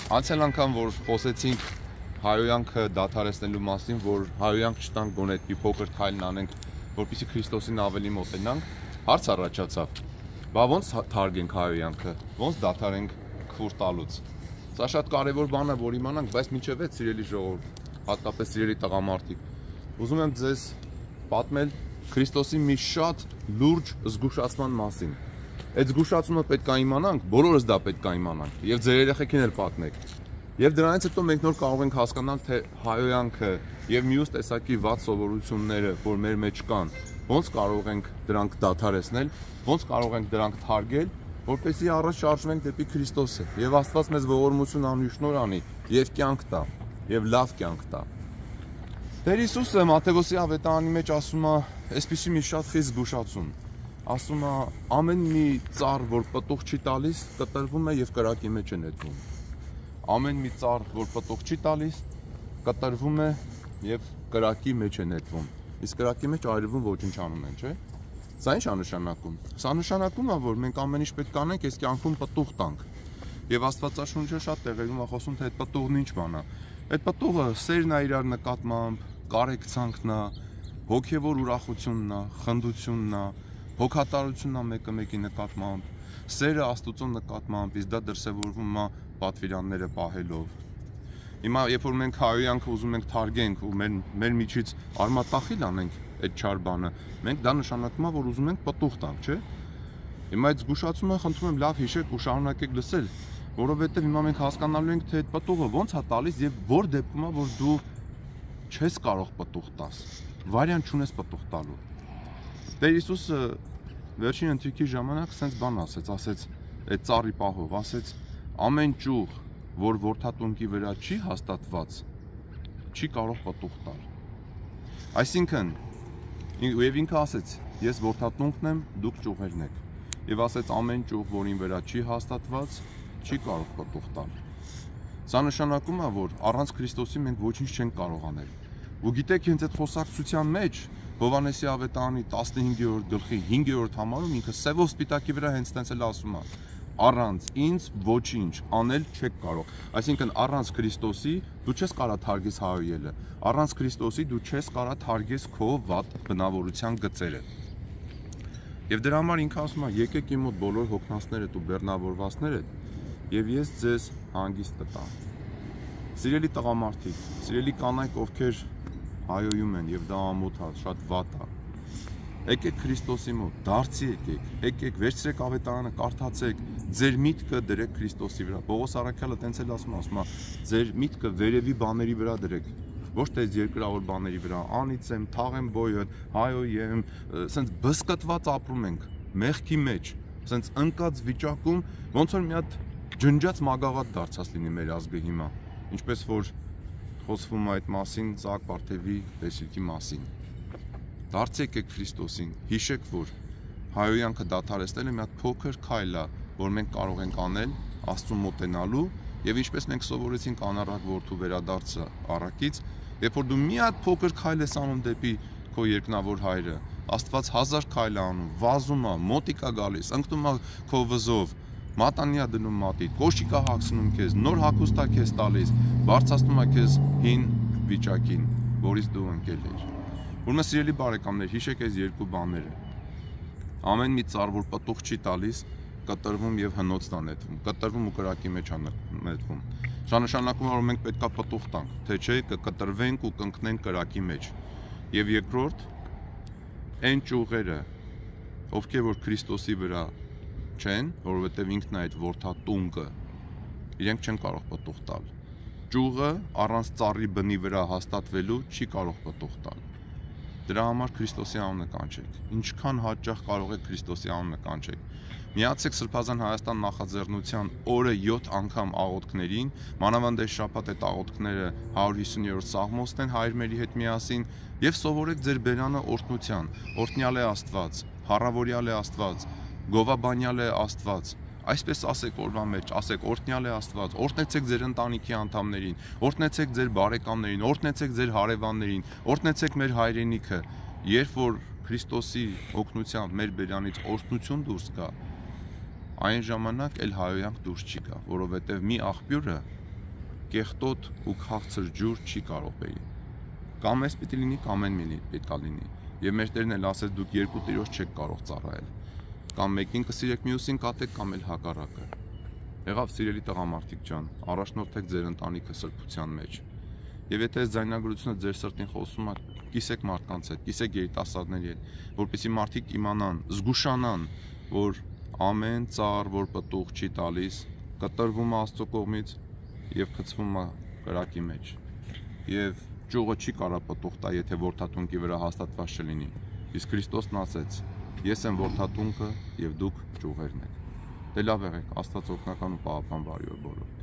Անցյալ անգամ, որ խոսեցինք հայոյանքը դադարեցնելու մասին, որ հայոյանք չտանք գոնե այդպիսի փոքր քայլն անենք, որպեսզի Քրիստոսին ավելի մոտենանք, հարց առաջացավ. բա ոնց թարգենք հայոյանքը, ոնց դադարենք քֆուր տալուց։ Սա շատ կարևոր բան է, որ իմանանք, բայց մինչև այդ սիրելի ժողովուրդ, հատկապես սիրելի տղամարդիկ, ուզում եմ ձեզ պատմել Քրիստոսի մի շատ լուրջ զգուշացման մասին։ Այդ զգուշացումը պետք է իմանանք, բոլորս դա պետք է իմանանք, եւ ձեր երեխեքին էլ պատմեք։ Եվ դրանից հետո մենք նոր կարող ենք հասկանալ, թե հայոյանքը եւ մյուս տեսակի վատ սովորությունները, որ մեր մեջ կան, ոնց կարող ենք դրանք դադարեցնել, ոնց կարող ենք դրանք թարգել, որպեսզի առաջ շարժվենք դեպի Քրիստոսը։ Եվ Աստված մեզ ողորմություն անի, շնորհ անի եւ կյանք տա, եւ լավ կյանք տա։ Տեր Հիսուսը Մատթեոսի ավետարանի մեջ ասում է, այսպիսի մի շատ խիստ զգուշացում։ Ասում է, ամեն մի ծառ, որ պտուղ չի տալիս, կտրվում է եւ կրակի մեջ է նետվում։ Ամեն մի ծառ, որ պտուղ չի տալիս, կտրվում է եւ կրակի մեջ է նետվում։ Իսկ կրակի մեջ այրվում ոչնչանում են, չէ՞։ Սա ի՞նչ է նշանակում։ Սա նշանակում է, որ մենք ամեն ինչ պետք է անենք, այս կյանքում պտուղ տանք։ Եվ Աստվածաշունչը շատ տեղերում է խոսում, թե այդ պտուղն ինչ բան է։ Այդ պտուղը սերն է իրար նկատմամբ, կարեկցանքն է, հոգևոր ուրախությունն է, խնդությունն է, հոգատարությունն է մեկը մեկի նկատմամբ, սերը Աստծո նկատմամբ, իսկ դա դրսևորվում է պատվիրանները պահելով։ Հիմա երբ որ մենք հայոյանքը ուզում ենք թարգենք ու մեր միջից արմատախիլ անենք այդ չար բանը, մենք դա նշանակում է, որ ուզում ենք պտուղ տանք, չէ՞։ Հիմա այդ զգուշացումը խնդրում եմ լավ հիշեք ու շարունակեք լսել, որովհետև հիմա մենք հասկանալու ենք, թե այդ պտուղը ոնց է տալիս եւ որ դեպքում է, որ դու չես կարող պտուղ տաս, վարիանտ չունես պտուղ տալու։ Տեր Հիսուսը վերջին ընթրիքի ժամանակ սենց բան ասեց այդ ծառի պահով, ասեց ամեն ճյուղ, որ որդատունկի վրա չի հաստատված, չի կարող պտուղ տալ։ Այսինքն, եւ ինքը ասեց, ես որդատունկն եմ, դուք ճյուղերն եք։ Եվ ասեց ամեն ճյուղ, որին վրա չի հաստատված, չի կարող պտուղ տալ։ Սա նշանակում է, որ առանց Քրիստոսի մենք ոչինչ չենք կարող անել։ Ու գիտեք, հենց այդ խոսակցության մեջ Հովհաննեսի ավետարանի 15-րդ գլխի 5-րդ համարում ինքը սևով սպիտակի վրա հենց տենց էլ ասում է. առանց ինձ ոչինչ անել չեք կարող։ Այսինքն առանց Քրիստոսի դու չես կարող թարգես հայոյելը, առանց Քրիստոսի դու չես կարող թարգես քո վատ բնավորության գծերը։ Եվ դրա համար ինքը ասում է, եկեք իմ մոտ բոլոր հոգնածներդ ու բեռնավորվածներդ, եւ ես ձեզ հանգիստ կտամ։ Սիրելի տղամարդիկ, սիրելի կանայք, ովքեր հայոյում են եւ դա ամոթ է, շատ վատ է։ Եկեք Քրիստոսի մոտ, դարձի եկեք, վերցրեք ավետարանը, կարդացեք, ձեր միտքը դրեք Քրիստոսի վրա։ Պողոս առաքյալը տենց էլ ասում է, ձեր միտքը վերևի բաների վրա դրեք, ոչ թե երկրավոր բաների վրա, անից եմ, թաղեմ բոյը, հայոյեմ, սենց բսկտված ապրում ենք, մեղքի մեջ, սենց ընկած վիճակում, ոնց որ մի հատ ջնջած մագաղատ դարձած լինի մեր ազգը հիմա, ինչպես որ խոսվում է այդ մասին Սահակ Պարթևի տեսիլքի մասին։ Դարձեք եք Քրիստոսին, հիշեք, որ հայոյանքը դադարեցնելը մի հատ փոքր քայլ է, որ մենք կարող ենք անել Աստծուն մոտենալու, եւ ինչպես մենք սովորեցինք անառակ որդու վերադարձը առակից, երբ որ դու մի հատ փոքր քայլ ես անում դեպի քո երկնավոր հայրը, Աստված 1000 քայլ է անում, վազում է, մոտիկ է գալիս, ընկնում է քո վզով, մատանիա դնում մատիդ, կոշիկ է հագցնում քեզ, նոր հագուստ է քեզ տալիս, բարձրացնում է քեզ հին վիճակին, որից դու ընկել ես։ Ուրեմն սիրելի բարեկամներ, հիշեք այս երկու բաները։ Ամեն մի ծառ, որ պտուղ չի տալիս, կտրվում եւ հնոց տա նետվում, կտրվում ու կրակի մեջ է նետվում։ Սա նշանակում է, որ մենք պետք է պտուղ տանք, թե չէ կկտրվենք ու կընկնենք կրակի մեջ։ Եվ երկրորդ, այն ճյուղերը, ովքեր որ Քրիստոսի վրա չեն, որովհետեւ ինքն է այդ որդատունկը, իրենք չեն կարող պտուղ տալ։ Ճյուղը առանց ծառի բնի վրա հաստատվելու չի կարող պտուղ տալ։ Դրա համար Քրիստոսի անունը կանչեք։ Ինչքան հաճախ կարող եք Քրիստոսի անունը կանչեք։ Միացեք Սրբազան Հայաստան նախաձեռնության օրը 7 անգամ աղոթքներին, մանավանդ այս շաբաթ այդ աղոթքները 150-րդ Սաղմոսն են հայրմերի հետ միասին, եւ սովորեք ձեր բերանը օրհնության։ Օրհնյալ է Աստված, փառավորյալ է Աստված, գովաբանյալ է Աստված։ Այսպես ասեք օրվա մեջ, ասեք օրհնյալ է Աստված, օրհնեցեք ձեր ընտանիքի անդամներին, օրհնեցեք ձեր բարեկամներին, օրհնեցեք ձեր հարևաններին, օրհնեցեք մեր հայրենիքը։ Երբ որ Քրիստոսի օգնությամբ մեր բերանից օրհնություն դուրս գա, այն ժամանակ էլ հայոյանք դուրս չի գա, որովհետև մի աղբյուրը կեղտոտ ու քաղցր ջուր չի կարող բերի։ Կամ էս պիտի լինի, կամ այն պետքա լինի։ Եվ մեր Տերն էլ ասեց, դուք երկու տիրոջ չեք կարող ծառայել։ Կամ մեկին կսիրեք, մյուսին կատեք, կամ էլ հակառակը։ Եղավ, սիրելի տղամարդիկ ջան, առաջնորդեք ձեր ընտանիքը սրբության մեջ։ Եվ եթե այս ձայնագրությունը ձեր սրտին խոսում է, կիսեք մարդկանց հետ, կիսեք երիտասարդների հետ, որպեսզի մարդիկ իմանան, զգուշանան, որ ամեն ծառ, որ պտուղ չի տալիս, կտրվում է Աստծո կողմից եւ խցվում է կրակի մեջ։ Եվ ճյուղը չի կարող պտուղ տա, եթե որդաթունկի վրա հաստատված չլինի։ Իսկ Քրիստոսն ասեց. Ես եմ որդաթունքը եւ դուք ճյուղերն եք։ Դե լավ եղեք, Աստված օգնական ու պահապան բարի օր բոլորին։